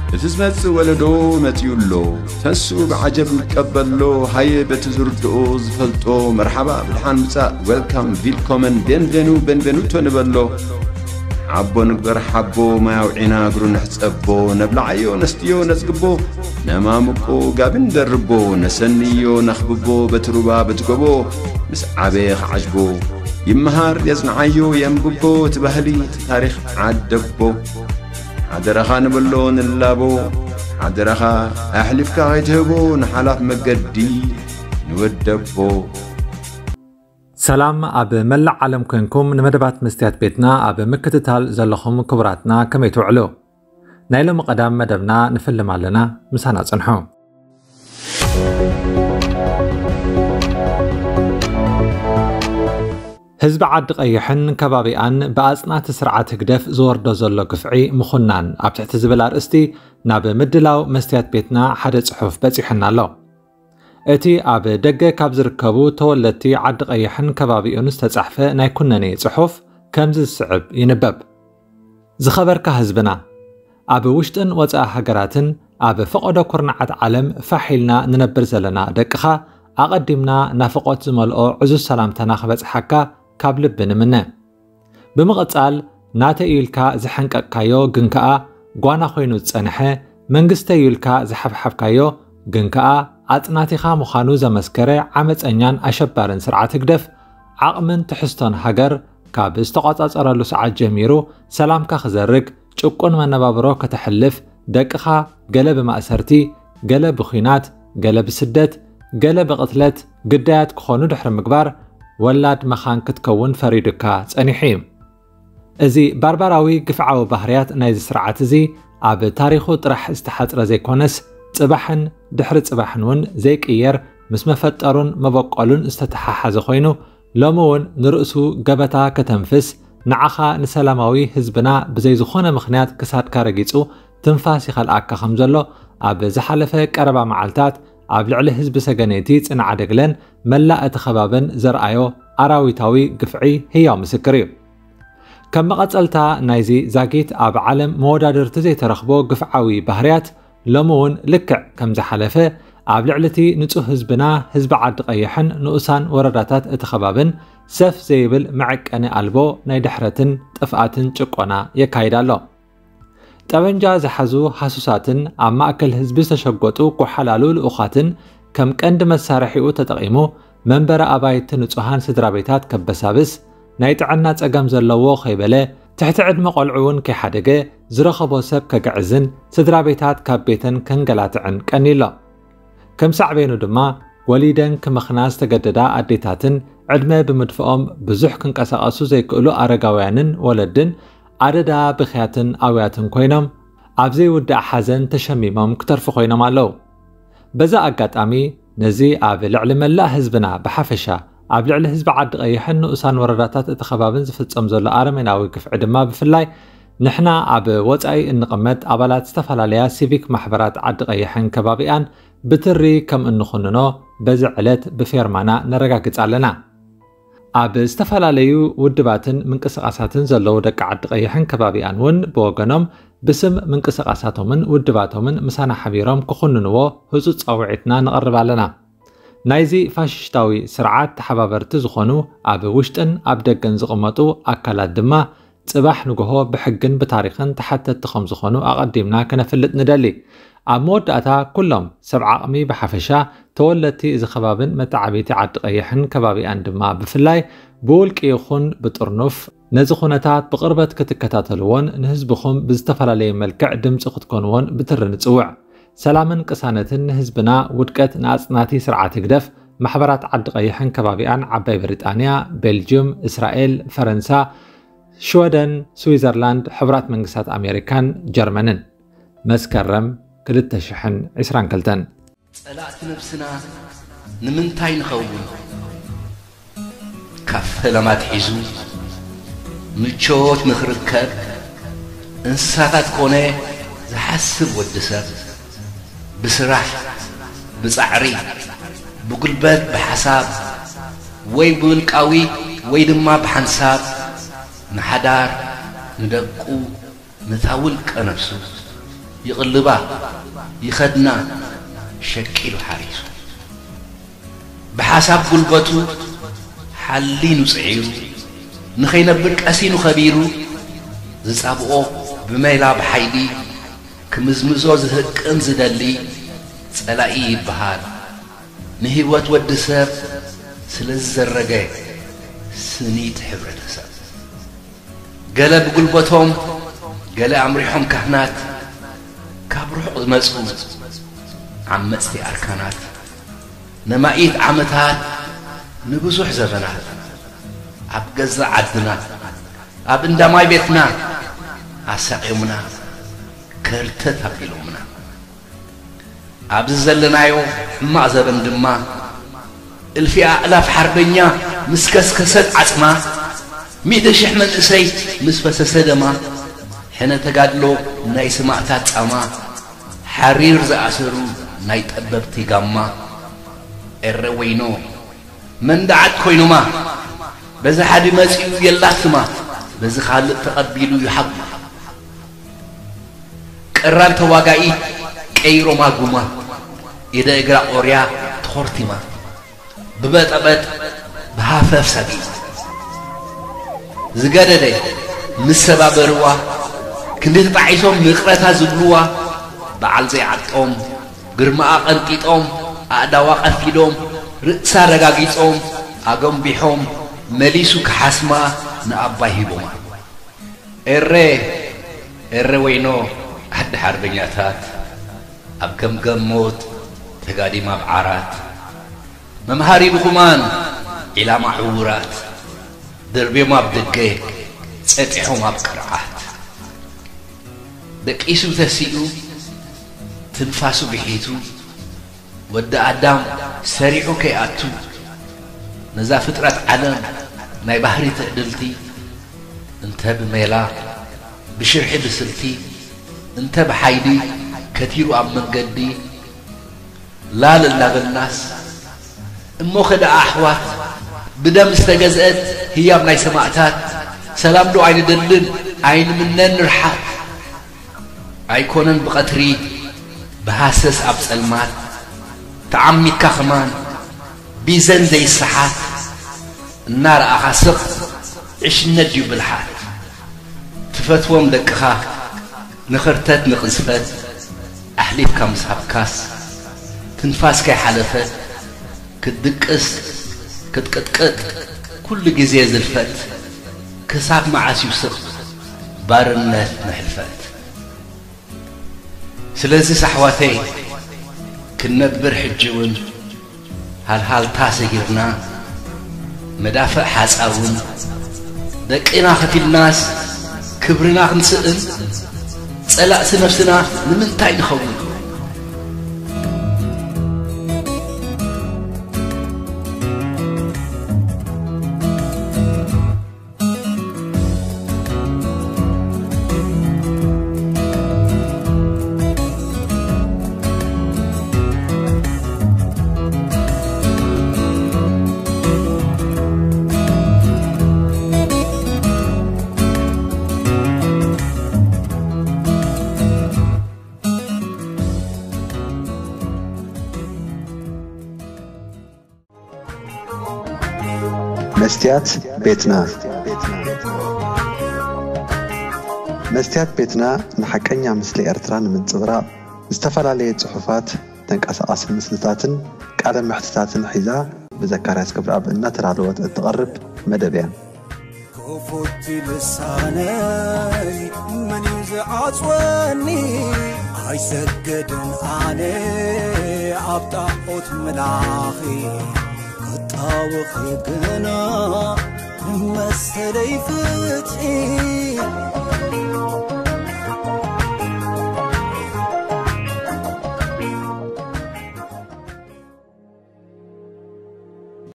እቲ ዝመጽእ ወለዶ መጺኡ ኣሎ። ተንስኡ ብዓጀብ ንቀበሎ። ሃየ በቲ ዝርድኦ ዝፈልጦ መርሓባ ብድሓን ምጻእ፣ ዌልካም፣ ቪልኮመን፣ ቤንቬኑ፣ ቤንቬኑቶ ንበሎ። ሓቦ ንግበር ሓቦ፣ ማይ ኣውዒና እግሩ ንሕጸቦ። ነብልዓዮ ነስትዮ ነጽግቦ፣ ነማምቆ ጋቢ ንደርቦ። ነሰንዮ ነኽብቦ በቲ ሩባ በቲ ጎቦ። ምስ ዓበየ ክዓጅቦ ይመሃር የጽንዓዮ የንብቦ። እቲ ባህሊ እቲ ታሪኽ ዓደቦ። ሓደራኻ ንበሎ ንላቦ። ሓደራኻ ኣሕሊፍካ ከይትህቦ ንሓላፍ መገዲ ንወደቦ። ሰላም ኣብ መላእ ዓለም ኮንኩም ንመደባት መስትያት ቤትና ኣብ ምክትታል ዘለኹም ክቡራትና ከመይ ትውዕሉ? ናይ ሎሚ ቀዳም መደብና ንፍልም ኣለና፣ ምሳና ጽንሑ። ህዝቢ ዓዲ ቀይሕን ከባቢኣን ብኣጽናቲ ስርዓት ህግደፍ ዝወርዶ ዘሎ ግፍዒ ምኹናን ኣብ ትሕቲ ዝብል ኣርእስቲ ናብ ምድላው መስትያት ቤትና ሓደ ጽሑፍ በጺሑና ኣሎ። እቲ ኣብ ደገ ካብ ዝርከቡ ተወለድቲ ዓዲ ቀይሕን ከባቢኡን ዝተጻሕፈ ናይ ኩነኔ ጽሑፍ ከምዚ ዝስዕብ ይንበብ። ዝኸበርካ ህዝብና፣ ኣብ ውሽጥን ወጻኢ ሃገራትን ኣብ ፈቐዶ ኩርናዓት ዓለም ፋሕ ኢልና ንነብር ዘለና ደቅኻ፣ ኣቐዲምና ናፍቖት ዝመልኦ ዕዙዝ ሰላምታና ክበጽሓካ ካብ ልቢ ንምነ። ብምቕጻል፣ ናተይ ኢልካ ዝሐንቀቕካዮ ግን ከኣ ጓና ኮይኑ ዝጸንሐ፣ መንግስተይ ኢልካ ዝሓብሓብካዮ ግን ከኣ ኣጽናቲኻ ምዃኑ ዘመስከረ ዓመጸኛን ኣሸባርን ስርዓት ህግደፍ፣ ዓቕምን ትሕዝቶን ሃገር ካብ ዝተቖጻጸረሉ ሰዓት ጀሚሩ ሰላምካ ክዘርግ፣ ጭቁን መነባብሮ ከተሕልፍ፣ ደቅኻ ገለ ብማእሰርቲ፣ ገለ ብኲናት፣ ገለ ብስደት፣ ገለ ብቕትለት ግዳያት ክኾኑ ድሕሪ ምግባር፣ ወላድ መኻን ክትከውን ፈሪዱካ ጸኒሑ እዩ። እዚ ባርባራዊ ግፍዓዊ ባህርያት ናይዚ ስርዓት እዚ ኣብ ታሪኹ ጥራሕ ዝተሓጽረ ዘይኮነስ፣ ጽባሕን ድሕሪ ጽባሕን እውን ዘይቅየር፣ ምስ መፈጠሩን መበቆሉን ዝተተሓሓዘ ኮይኑ፣ ሎሚ እውን ንርእሱ ገበታ ከተንፍስ፣ ንዓኻ ንሰላማዊ ህዝብና ብዘይ ዝኾነ ምኽንያት ክሳድካ ረጊጹ ትንፋስ ይኸልኣካ ከም ዘሎ፣ ኣብ ዝሓለፈ ቀረባ መዓልታት ኣብ ልዕሊ ህዝቢ ሰገነይቲ ጽንዓ ደግለን መላእ እቲ ከባብን ዘርኣዮ ኣራዊታዊ ግፍዒ ህያው ምስክር እዩ። ከም መቐጸልታ ናይዚ ዛጊት ኣብ ዓለም መወዳድርቲ ዘይተረኽቦ ግፍዓዊ ባህርያት ሎሚ እውን ልክዕ ከም ዝሓለፈ ኣብ ልዕሊ እቲ ንጹህ ህዝብና፣ ህዝቢ ዓዲ ቀይሕን ንኡሳን ወረዳታት እቲ ከባብን ሰፍ ዘይብል መዐቀኒ ኣልቦ ናይ ድሕረትን ጥፍኣትን ጭቆና የካይድ ኣሎ። ጠበንጃ ዝሓዙ ሃሱሳትን ኣብ ማእከል ህዝቢ ዝተሸጎጡ ጓሓላሉ ልኡኻትን ከም ቀንዲ መሳርሒኡ ተጠቒሙ መንበሪ ኣባይቲ ንጹሃን ስድራ ቤታት ከበሳብስ፣ ናይ ጥዕና ጸገም ዘለዎ ከይበለ፣ ትሕቲ ዕድመ ቆልዑ እውን ከይሓደገ ዝረኸቦ ሰብ ከግዕዝን ስድራ ቤታት ካብ ቤተን ከንገላትዕን ቀንዩ ኣሎ። ከም ሳዕቤኑ ድማ ወሊደን ክመኽና ዝተገደዳ ኣዴታትን ዕድመ ብምድፍኦም ብዙሕ ክንቀሳቐሱ ዘይክእሉ ኣረጋውያንን ወለድን ኣደዳ ብኽያትን ኣውያትን ኮይኖም ኣብ ዘይውዳእ ሓዘን ተሸሚሞም ክተርፉ ኮይኖም ኣለዉ። በዛ ኣጋጣሚ ነዚ ኣብ ልዕሊ መላእ ህዝብና ብሓፈሻ ኣብ ልዕሊ ህዝቢ ዓዲ ቀይሕን ንኡሳን ወረዳታት እቲ ከባብን ዝፍጸም ዘሎ ኣረሜናዊ ግፍዒ ድማ ብፍላይ ንሕና ኣብ ወጻኢ እንቕመጥ ኣባላት ዝተፈላለያ ሲቪክ ማሕበራት ዓዲ ቀይሕን ከባቢኣን ብትሪ ከም እንኹንኖ በዚ ዕለት ብፌርማና ነረጋግጽ ኣለና። ኣብ ዝተፈላለዩ ውድባትን ምንቅስቓሳትን ዘለዉ ደቂ ዓዲ ቀይሕን ከባቢኣን እውን ብወገኖም ብስም ምንቅስቓሳቶምን ውድባቶምን ምሳና ሓቢሮም ክኹንንዎ ህጹጽ ጻውዒትና ነቕርብ ኣለና። ናይዚ ፋሽስታዊ ስርዓት ተሓባበርቲ ዝኾኑ ኣብ ውሽጥን ኣብ ደገን ዝቕመጡ ኣካላት ድማ ጽባሕ ንግሆ ብሕግን ብታሪኽን ተሓተትቲ ከም ዝኾኑ ኣቐዲምና ከነፍልጥ ንደሊ። ኣብ መወዳእታ ኩሎም ሰብ ዓቕሚ ብሓፈሻ፣ ተወለድቲ እዚ ከባብን መተዓብይቲ ዓዲ ቀይሕን ከባቢኣን ድማ ብፍላይ ብውልቂ ይኹን ብጥርኑፍ ነዚ ኩነታት ብቕርበት ክትከታተልዎን ንህዝብኹም ብዝተፈላለየ መልክዕ ድምፂ ክትኮንዎን ብትሪ ንጽውዕ። ሰላምን ቅሳነትን ንህዝብና፣ ውድቀት ንኣጽናቲ ስርዓት ህግደፍ። ማሕበራት ዓዲ ቀይሕን ከባቢኣን ዓባይ ብሪጣንያ፣ ቤልጅዩም፣ እስራኤል፣ ፈረንሳ፣ ሽወደን፣ ስዊዘርላንድ፣ ሕቡራት መንግስታት ኣሜሪካን ጀርመንን። መስከረም ክልተ ሽሕን ዕስራን ክልተን። ጸላእቲ ነብስና ንምንታይ ንኸውን? ካብ ፈለማ ኣትሒዙ ምቾት ንኽርከብ እንስሳታት ኮነ ዝሓስብ ወዲ ሰብ ብስራሕ፣ ብጻዕሪ፣ ብጉልበት፣ ብሓሳብ ወይ ብውልቃዊ ወይ ድማ ብሓንሳብ ንሓዳር፣ ንደቁ፣ ነታ ውልቀ ነፍሱ ይቕልባ፣ ይኸድና፣ ሸቂሉ ሓሪሱ። ብሓሳብ ጉልበቱ ሓሊኑ ጽዒሩ፣ ንኸይነብር ቀሲኑ ኸቢሩ፣ ዝጻብኦ ብሜላ ብሓይሊ፣ ክምዝምዞ ዝህቅን ዝደሊ ጸላኢ ይበሃል። ንህይወት ወዲ ሰብ ስለ ዝዘረገ ስኒት ሕብረተሰብ። ገለ ብጉልበቶም፣ ገለ ኣምሪሖም ካህናት፣ ካብ ርሑቕ ዝመጹ ዓመጽቲ ኣርካናት፣ ነማኢት ዓመታት ንብዙሕ ዘበናት ኣብ ገዛእ ዓድና፣ ኣብ እንዳ ማይ ቤትና ኣሳቕዮምና፣ ከርተት ኣቢሎምና። ኣብዚ ዘለናዮ ሕማቕ ዘበን ድማ፣ እልፊ ኣእላፍ ሓርበኛ ምስ ከስከሰት ዓጽማ፣ ሚእቲ ሽሕ መንእሰይ ምስ ፈሰሰ ደማ፣ ሕነ ተጋድሎ ናይ ሰማእታት ጻማ፣ ሓሪር ዝኣሰሩ ናይ ጠበብቲ ጋማ፣ ኤረ ወይኖ መንደዓት ኮይኖማ፣ በዚ ሓዲ መጺኡ የላትማ፣ በዚ ካልእ ተቐቢሉ ይሓጉማ። ቀራን ተዋጋኢት ቀይሮማ ጉማ፣ ኢደ እግራ ቆርያ ተኾርቲማ፣ ብበጠበጥ ብሃፈፍ ሰጊማ። ዝገደደ ምስ ሰባበርዋ፣ ክንዲ ተጣዒሶም ይቕረታ ዝብልዋ፣ በዓል ዘይዓጦም ግርማኣ ቀንጢጦም፣ ኣእዳዋ ቀፊዶም፣ ርእሳ ረጋጊጾም፣ ኣጎንቢሖም፣ መሊሱ ክሓስማ ንኣባይ ሂቦማ። ኤረ፣ ኤረ ወይኖ ዓዲ ሓርበኛታት፣ ኣብ ገምገም ሞት ተጋዲማ ኣብ ዓራት፣ መምሃሪ ድኹማን ዒላማ ዕዉራት፣ ደርብዮም ኣብ ደገ፣ ጸጢሖም ኣብ ቅርዓት። ደቂሱ ተሲኡ፣ ትንፋሱ ብሒቱ፣ ወዲ ኣዳም ሰሪዑ ከይኣቱ፣ ነዛ ፍጥረት ዓለም ናይ ባህሪ ትዕድልቲ፣ እንተ ብሜላ፣ ብሽርሒ ብስልቲ፣ እንተ ብሓይሊ፣ ከቲሩ ኣብ መንገዲ፣ ላል እናበልናስ፣ እሞኸ ደኣ ኣሕዋት፣ ብደም ዝተገዝአት ህያብ ናይ ሰማእታት፣ ሰላም ዶ ኣይንደልን ኣይንምነን ንርሓት? ኣይኮነን ብቐትሪ ብሃሰስ ኣብ ጸልማት፣ ተዓሚትካ ኸማን ቢዘን ዘይሰሓት፣ እናረኣኻ ስቕ ዕሽነት ድዩ ብልሓት? ትፈትዎም ደቅኻ ንኽርተት ንቕዝፈት ኣሕሊፍካ ምስ ሃብካስ፣ ትንፋስ ከይሓለፈት ክትድቅስ ክትቅጥቅጥ ኩሉ ግዜ ዝልፈት፣ ክሳብ መዓስ እዩ ስቕ ባርነት ንሕልፈት? ስለዚስ ኣሕዋተይ ክንነብር ሕጂ እውን፣ ሃልሃልታ ሰጊርና፣ መዳፍዕ ሓጻውን፣ ደቂና ከፊልናስ ክብርና ክንስእን፣ ጸላእቲ ነፍስና ንምንታይ ንኸውን? መስትያት ቤትና። መስትያት ቤትና ንሓቀኛ ምስሊ ኤርትራ ንምንጽብራቕ፣ ዝተፈላለየ ጽሑፋት፣ ተንቀሳቓሲ ምስልታትን ቃለ መሕትታትን ሒዛ፣ ብዘካርያስ ገብረኣብ እናተዳለወት እትቐርብ መደብ እያ። ክፉት ልሳነይ መን እዩ ዝዓጽወኒ? ኣይሰግድን ኣነ ኣብ ጣዖት ምላኺ፣ ክጣወኺ ግና መሰለይ ፍትሒ።